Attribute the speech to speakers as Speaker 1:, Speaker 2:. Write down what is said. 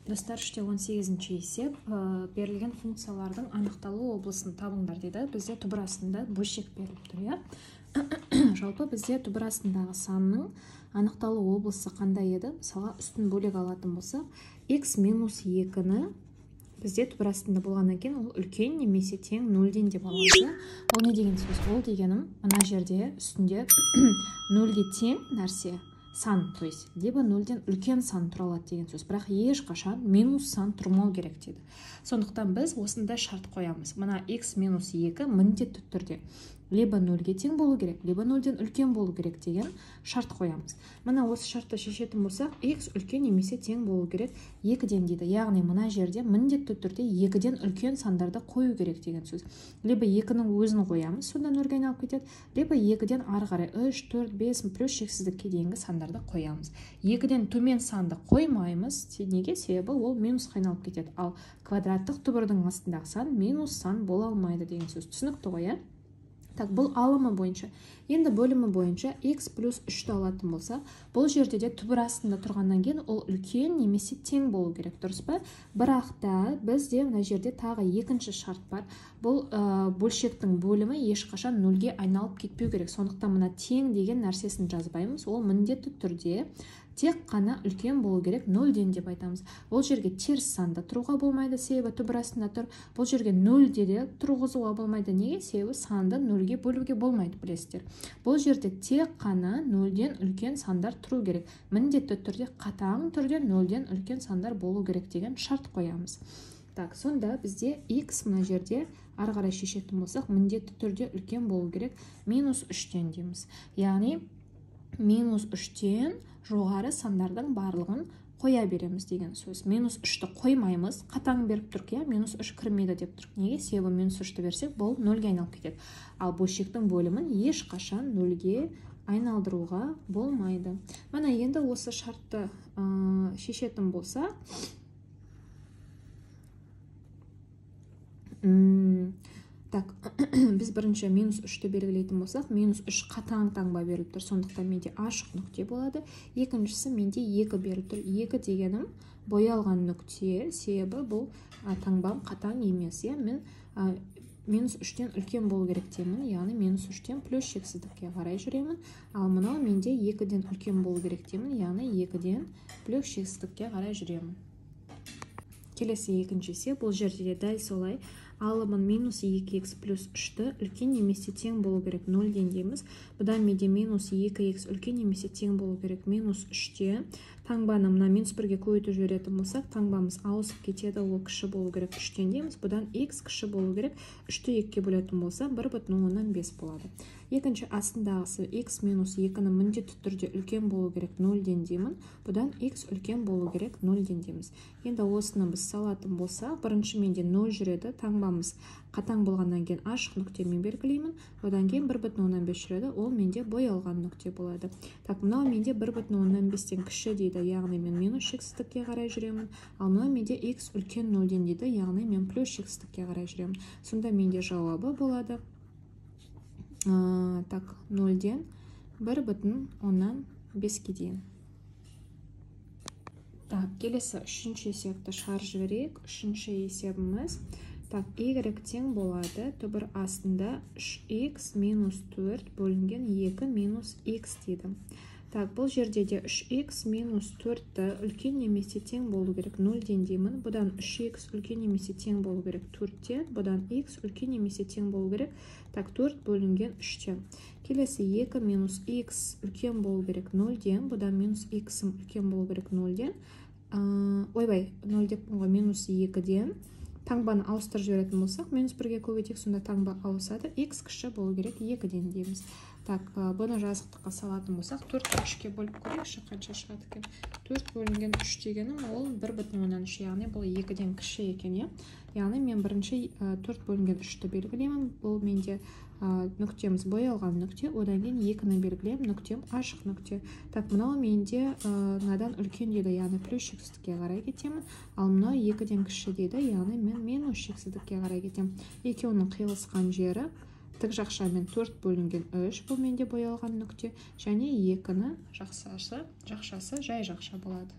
Speaker 1: Достар, 18-ші есеп берілген функциялардың анықталу облысын табыңдар дейді. Бізде түбір астында бөлшек беріліп тұр, иә? Жалпы бізде түбір астындағы санның анықталу облысы қандай еді? Мысалға үстін бөлек алатын болса, x минус 2-ні бізде түбір астында болғаннан кейін ол үлкен немесе тең 0-ден деп аламыз. Ол не деген сөз? Ол дегенім мына жерде үстінде 0-ге тең нәрсе сан, то есть либо 0-ден үлкен сан тұра алады деген сөз. Бірақ ешқашан минус сан тұрмау керек дейді. Сондықтан біз осындай шарт қоямыз. Мына x минус 2 міндетті түрде либо 0-ге тең болу керек, либо 0-ден үлкен болу керек деген шарт қоямыз. Мына осы шартты шешетін болсақ, x үлкен немесе тең болу керек 2-ден дейді. Яғни мына жерде міндетті түрде 2-ден үлкен сандарды қою керек деген сөз. Либо 2-нің өзін қоямыз, сонда 0-ге айналып кетеді, либо 2-ден ары қарай 3, 4, 5 плюс шексіздікке дейінгі сандарды қоямыз. 2-ден төмен санды қоймаймыз. Неге? Себебі ол минусқа айналып кетеді. Ал квадраттық түбірдің астындағы сан минус сан бола алмайды деген сөз. Түсінікті ғой, иә? Так, бұл алымы бойынша. Енді бөлімі бойынша x плюс 3-ті алатын болса, бұл жерде де түбір астында тұрғаннан кейін ол үлкен немесе тең болу керек, дұрыс па? Бірақ та бізде мына жерде тағы екінші шарт бар. Бұл бөлшектің бөлімі ешқашан 0-ге айналып кетпеу керек. Сондықтан мына тең деген нәрсесін жазбаймыз. Ол міндетті түрде тек қана үлкен болу керек, 0-ден деп айтамыз. Бұл жерге теріс санды тұруға болмайды, себебі түбір астында тұр. Бұл жерге 0-де де тұрғызуға болмайды. Неге? Себебі санды 0-ге бөлуге болмайды, білесіздер. Бұл жерде тек қана 0-ден үлкен сандар тұру керек. Міндетті түрде қатаң түрде 0-ден үлкен сандар болу керек деген шарт қоямыз. Так, сонда бізде x мына жерде ары қарай шешетін болсақ, міндетті түрде үлкен болу керек, минус 3-тен дейміз. Яғни минус 3-тен жоғары сандардың барлығын қоя береміз деген сөз. Минус 3-ті қоймаймыз, қатаң беріп тұрқ, иә, минус 3 кірмейді деп тұрқ. Неге? Себебі минус 3-ті берсек, бұл 0-ге айналып кетеді. Ал бөлшектің бөлімін ешқашан 0-ге айналдыруға болмайды. Мына енді осы шартты шешетін болса, так, біз бірінші минус 3-ті белгілейтін болсақ, минус 3 қатаң таңба беріліп тұр, сондықтан менде ашық нүкте болады. Екіншісі менде 2 беріліп тұр. 2 дегенім боялған нүкте, себебі бұл таңбам қатаң емес. Мен минус 3-тен үлкен болу керек деймін, яғни минус 3-тен плюс шексіздікке қарай жүремін. Ал мынау менде 2-ден үлкен болу керек деймін, яғни 2-ден плюс шексіздікке қарай жүремін. Келесі екінші есеп, бұл жерде дәл солай. Алымын минус 2x плюс 3-ті үлкен немесе тең болу керек 0-ден дейміз. Бұдан менде минус 2x үлкен немесе тең болу керек минус 3-те. Таңбаны мына минус 1-ге көбейтіп жіберетін болсақ, таңбамыз ауысып кетеді, ол кіші болу керек 3-тен дейміз. Бұдан x кіші болу керек, 3-ті 2-ге бөлетін болса 1,5 болады. Екінші астындағысы x минус 2-ні міндетті түрде үлкен болу керек 0-ден деймін. Бұдан x үлкен болу керек 0-ден дейміз. Енді осыны біз салатын болса, бірінші менде 0 жүреді, таңбамыз қатаң болғаннан кейін ашық нүктемен белгілеймін. Одан кейін 1,5 жүреді, ол менде боялған нүкте болады. Так, мынау менде 1,5-тен кіші дейді, яғни мен минус шексіздікке қарай жүремін. Ал мынау менде x үлкен 0-ден дейді, яғни мен плюс шексіздікке қарай жүремін. Сонда менде жауабы болады. Так, 0-ден 1,5-ге дейін. Так, келесі үшінші есепті шығарып жіберейік. Үшінші есебіміз. Так, y тең болады. Түбір астында 3x минус 4 бөлінген 2 минус x дейді. Так, бұл жерде де 3x минус 4-ті үлкен немесе тең болу керек 0-ден деймін. Бұдан 3x үлкен немесе тең болу керек 4-тен. Бұдан x үлкен немесе тең болу керек. Так, 4 бөлінген 3-тен. Келесі 2 минус x үлкен болу керек 0-ден. Бұдан минус x үлкен болу керек 0-ден. Ойбай, 0 деп минус 2-ден. Таңбаны ауыстырып жіберетін болсақ, минус 1-ге көбейтсек, сонда таңба ауысады. X кіші болу керек 2-ден дейміз. Так, бұны жазықтыққа салатын болсақ, 4-ті 3-ке бөліп көрейікші, қанша шығады екен. 4 бөлінген 3 дегенім ол 1,3, яғни бұл 2-ден кіші екен. Яғни мен бірінші 4 бөлінген 3-ті белгілеймін. Бұл менде нүктеміз боялған нүкте, одан кейін 2-ні белгілеймін, нүктем ашық нүкте. Так, мынау менде надан үлкен дейді, яғни плюс шексіздікке қарай кетемін. Ал мынау 2-ден кіші дейді, яғни мен минус шексіздікке қарай кетемін. Екеуінің қиылысқан жері тік жақшамен 4 бөлінген 3, бұл менде боялған нүкте, және 2-ні жақшасы жай жақша болады.